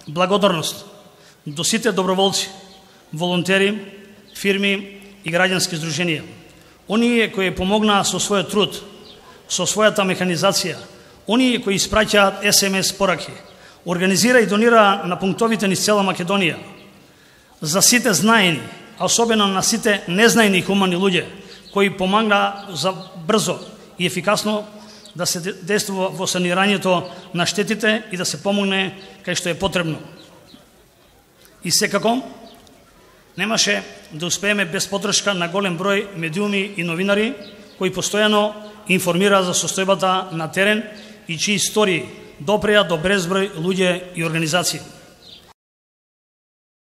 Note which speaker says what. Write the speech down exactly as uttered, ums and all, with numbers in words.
Speaker 1: благодарност до сите доброволци, волонтери, фирми и граѓански здруженија. Оние кои помогнаа со својот труд, со својата механизација, оние кои испраќаат ес ем ес пораки, организира и донира на пунктовите низ цела Македонија. За сите знаени, а особено на сите незнаени хумани луѓе, кои помагнаа за брзо и ефикасно да се действува во санирањето на штетите и да се помогне кај што е потребно. И секако, немаше да успееме без поддршка на голем број медиуми и новинари кои постојано информираат за состојбата на терен и чии истории допреа до безброј луѓе и организации.